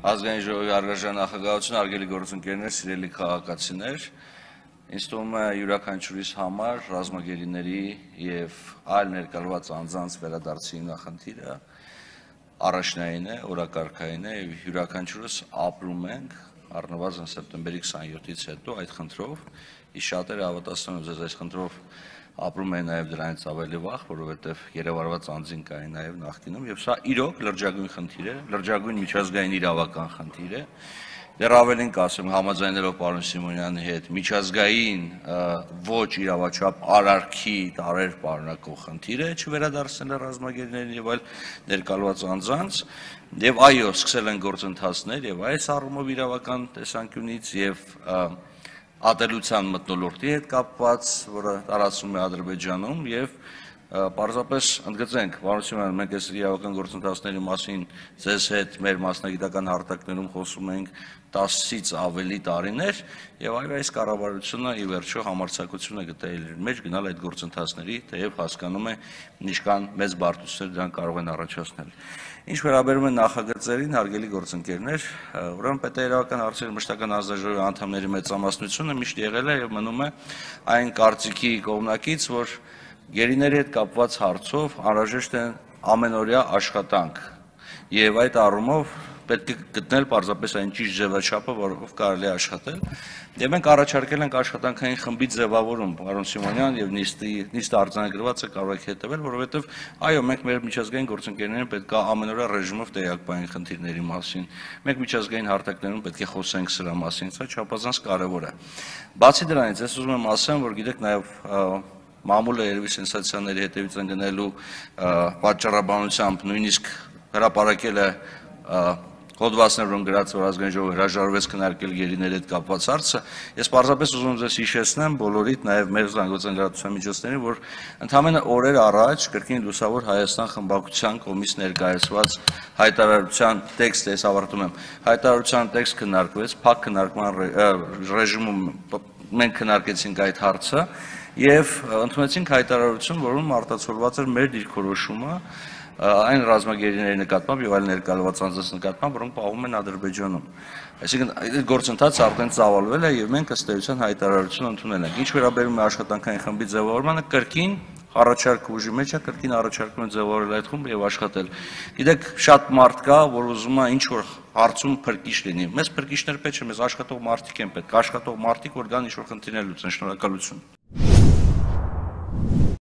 Ազգային ժողովի առգաժան նախագահություն, արգելի գործընկերներ, սիրելի քաղաքացիներ, ինձ թվում է յուրաքանչյուրիս համար ռազմագերիների եւ այլ ներկայացված անձանց վերադարձի նախնդիրը առաջնային է, օրակարգային է եւ յուրաքանչյուրս ապրում ենք առնվազն սեպտեմբերի 27-ից հետո այդ խնդրով, իսկ շատերը հավատացնում եմ ձեզ այս խնդրով ապրում են նաև դրանից ավելի վաղ, որովհետև երևարված անձին կային նաև նախկինում, եւ սա իրոք լրջագույն խնդիր է, լրջագույն միջազգային իրավական խնդիր է, դեռ ավելին կասեմ, համաձայնելով պարոն Սիմոնյանի հետ, միջազգային ոչ իրավաչափ արարքի տարեր պարունակող խնդիր է, չվերադարձնել ռազմագերիներին եւ այլ ներկայացված անձանց, եւ այո, սկսել են գործընթացներ եւ այս առումով իրավական տեսանկյունից եւ ատելության մթնոլորտի հետ կապված, որը տարածվում է Ադրբեջանում եւ պարզապես ընդգծենք, պարոն Սիմոնյան, մենք այս իրավական գործընթացների մասին ձեզ հետ մեր մասնագիտական հարթակներում խոսում ենք 10-ից ավելի տարիներ եւ այո այս կառավարությունը ի վերջո համարձակություն է գտել իր մեջ գնալ այդ գործընթացների, թեև հասկանում է ինչքան մեծ բարդություններ դրանք կարող են առաջացնել։ Ինչ վերաբերում է նախագծերին, հարգելի գործընկերներ, ուրեմն պետաերավական հարցերի մշտական հանձնաժողովի անդամների մեծամասնությունը միշտ եղել է եւ մնում է այն կարծիքի կողմնակից, որ գերիների հետ կապված հարցով անհրաժեշտ է ամենօրյա աշխատանք եւ այդ առումով պետք է գտնել պարզապես այն ճիշտ ձևաչափը, որով կարելի է աշխատել։ Եվ մենք առաջարկել ենք աշխատանքային խմբի ձևավորում, պարոն Սիմոնյան, եւ նիստը արձանագրված է, կարող եք հետևել, որովհետեւ այո, մենք մեր միջազգային գործընկերներին պետք է ամենօրյա ռեժիմով տեղյակ պահենք խնդիրների մասին։ Մենք միջազգային հարթակներում պետք է խոսենք սրա մասին, սա չափազանց կարեւոր է։ Բացի դրանից, ես ուզում եմ ասեմ, որ գիտեք նաեւ մամուլը երևի սենսացիաների հետևից են գնելու պատճառաբանությամբ նույնիսկ հրապարակել է հոդվածներում գրած, որ ազգային ժողովը հրաժարվեց քննարկել գերիների հետ կապված հարցը, ես պարզապես ուզում եմ ձեզ հիշեցնեմ բոլորիդ, նաև մեր զանգվածային լրատվության միջոցներին, որ ընդամենը օրեր առաջ կրկին լուսավոր Հայաստան խմբակցության կողմից ներկայացված հայտարարության տեքստը, ես ավարտում եմ, հայտարարության տեքստ քննարկվեց, փակ քննարկման ռեժիմում մենք քննարկեցինք այդ հարցը եւ ընդունեցինք հայտարարություն, որում արտացոլված էր մեր դիրքորոշումը այն ռազմագերիների նկատմամբ եւ այլ ներկայացված անձանց նկատմամբ, որոնք պահվում են Ադրբեջանում։ Այսինքն այդ գործընթացը արդեն ծավալվել է եւ մենք ըստ էության հայտարարություն ընդունել ենք։ Ինչ վերաբերում է աշխատանքային խմբի ձևավորմանը, կրկին առաջարկը ուժի մեջ է, կրկին առաջարկում են ձևավորել այդ խումբը եւ աշխատել։ Գիտեք, շատ մարդ կա, որ ուզում է ինչ որ հարցում փրկիչ լինի։ Մեզ փրկիչներ պետք չէ, մեզ աշխատող մարդիկ են պետք, աշխատող մարդիկ, որ գան ինչ որ խնդիրներ լուծեն։ Շնորհակալություն։